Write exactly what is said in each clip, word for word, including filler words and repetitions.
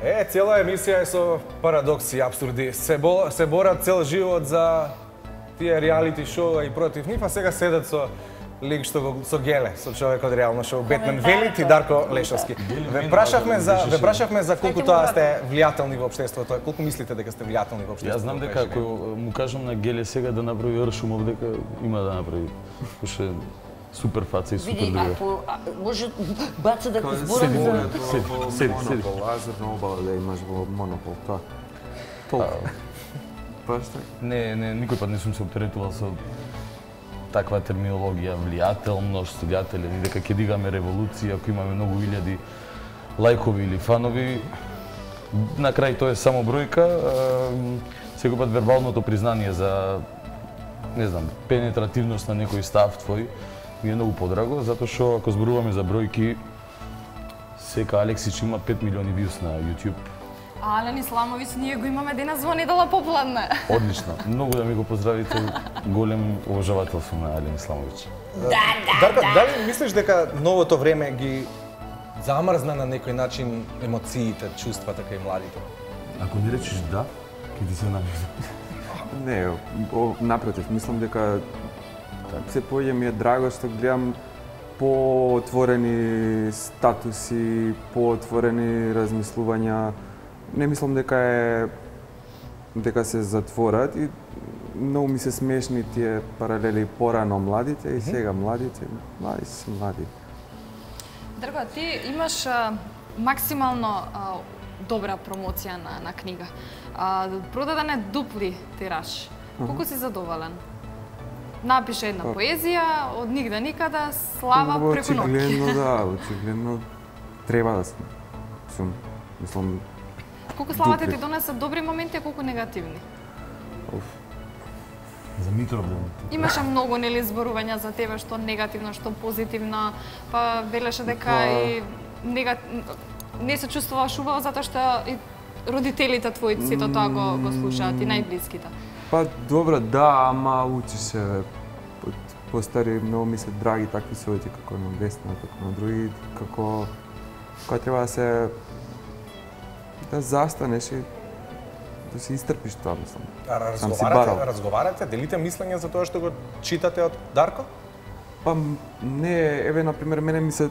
Е, цела емисија е со парадокси и апсурди. Се, бо, се борат цел живот за тие реалити шоуа и против нив, а сега седат со лик што го со геле, со човек од реално шоу Бетмен Велит и Дарко Лешовски. Ве прашавме за ве прашавме за колку тоа сте влијателни во општеството. Колку мислите дека сте влијателни во општеството? Јас знам дека ако му кажам на геле сега да направи Ршумов, дека има да направи. Уште супер фаца и супер Види, друга. ако може баца да те зборам за... Седи, седи. Лазерна обала да имаш во Монопол, тоа. Толку. Па што? Не, не, никој пат не сум се оптеретувал со таква терминологија, влијателност, влијателен, и дека ќе дигаме револуција, ако имаме многу илјади лајкови или фанови. На крај тоа е само бројка. Секој пат вербалното признание за, не знам, пенетративност на некој став твој ми е многу подраго, затоа што ако зборуваме за бројки, сека Алексич има пет милиони вјуз на YouTube. Ален Исламовиќ, ние го имаме денес во недела попладне. Одлично. Многу да ми го поздравите. Голем уважавател сум на Ален Исламовиќ. Да, да, Дарко, да. дали мислиш дека новото време ги замрзна на некој начин емоциите, чувствата кај младите? Ако не речеш да, ќе ти се намерам. Не, о, напротив, мислам дека се поќе ми е драго што гледам поотворени статуси, поотворени размислувања. Не мислам дека е дека се затворат и многу ми се смешни тие паралели порано младите и сега младите. Млади се млади. Дрго, ти имаш а, максимално а, добра промоција на, на книга. А, продаден е дупли тираж. Колку си задоволен? Напише една поезија, од нигде никада, слава преку ноќ. Очигледно да, очигледно треба да сум. Сум, мислам, Колку славата ти донесе добри моменти, а колку негативни? За Митров да. Имаше многу нели зборувања за тебе, што негативно, што позитивно, па велеше дека Па- и нега... не се чувствуваш убаво затоа што и родителите твои сето тоа го, го слушаат и најблиските. па добро, да, ама учи се од постари, многу ми се драги такви совети како на Весна, како на други, како кога треба да се да застанеш и да се истрпиш тоа, мислам. А Сам си барал. разговарате, разговарате, делите мислење за тоа што го читате од Дарко? Па не, еве на пример мене ми се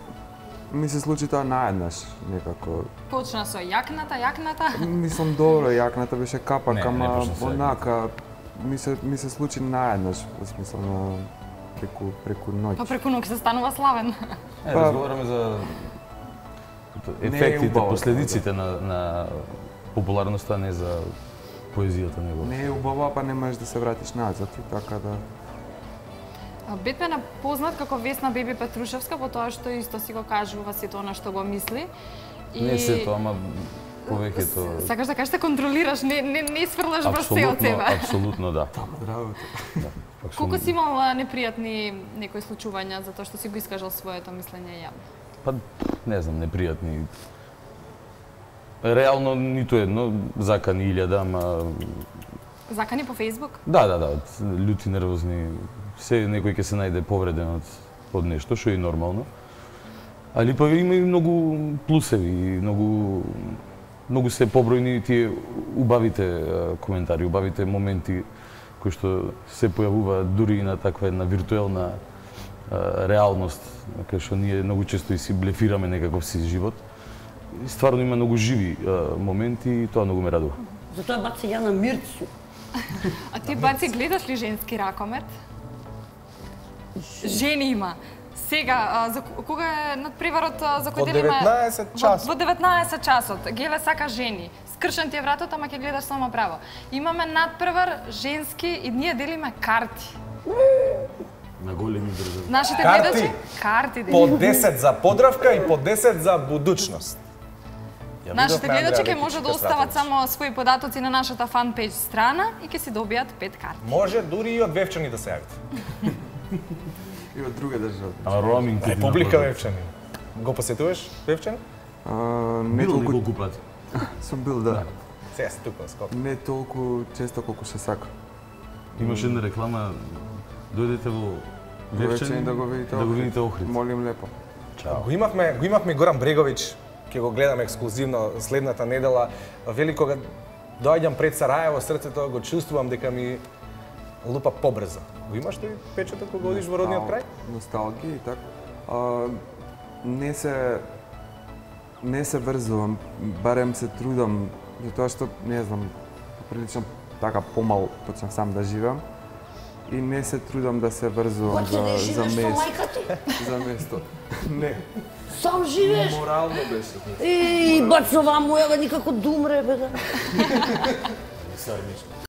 ми се случи тоа наеднаш некако. Почна со јакната, јакната. Мислам добро, јакната беше капак, Не, не ама почна со онака ми се ми се случи наеднаш, во смисла на преку преку ноќ. Па преку ноќ се станува славен. Е, Па- разговараме за Не е ефектите, убаво, последиците на, на популарноста, не за поезијата него. Не е убаво, па не можеш да се вратиш назад и така да. А Бетмен е познат како Весна Беби Петрушевска, по тоа што исто си го кажува сето она што го мисли. Не се тоа, ама повеќето. Сакаш да кажеш да контролираш, не не не сврлаш брз се од Апсолутно, себе. апсолутно да. Работа. Да, Колку апсолутно. си имал а, непријатни некои случувања затоа што си го искажал своето мислење јавно? Па, не знам, непријатни. Реално ниту едно, закани илјада, ама Закани по Фејсбук? да, да, да, љути, нервозни, се некој ќе се најде повреден од од нешто, што е и нормално. Али па има и многу плусеви, и многу многу се побројни тие убавите а, коментари, убавите моменти кои што се појавуваат дури и на таква една виртуелна а, реалност, кај што ние многу често и си блефираме некаков си живот. И стварно има многу живи а, моменти и тоа многу ме радува. Затоа баци ја на Мирцу. А ти баци гледаш ли женски ракомет? Жени има. Сега, а, за кога е надпреварот а, за кој Во ден има? деветнаесет часот. Во, во деветнаесет часот. Геле сака жени. Скршен ти е вратот, ама ќе гледаш само право. Имаме надпревар женски и ние делиме карти. На големи држави. Нашите Карти? гледачи карти По делиме. десет за подравка и по десет за будучност. Ја Нашите видовме гледачи Андреја ќе може да Лекичка остават Стратович. само своји податоци на нашата фан пејдж страна и ќе си добијат пет карти. Може дури и од Вевчани да се јавите. И од друга држава. Ама роуминг Република Вевчани. Го посетуваш Вевчани? А, не Бил толку неколку пати. сум бил, да. Сега си тука, скоро. Не толку често колку се сака. Имаше една реклама, дојдете во Вевчани Вевчани да го видите. да го Охрид. видите Охрид. Молим лепо. Чао. Го имавме, го имавме Горан Бреговиќ ќе го гледам ексклузивно следната недела. Вели кога доаѓам пред Сараево, срцето го чувствувам дека ми лупа побрзо. Го имаш ли печатот кога одиш во родниот крај? Носталгија и така. А, не се не се врзувам, барем се трудам, затоа што не знам, прилично така помал почнав сам да живеам и не се трудам да се врзувам Хоќе да за за живееш со место. мајка ти? За место. Не, Сам живееш? морално беше. И бацова му, ева никако да умре, бе да. Сармичко.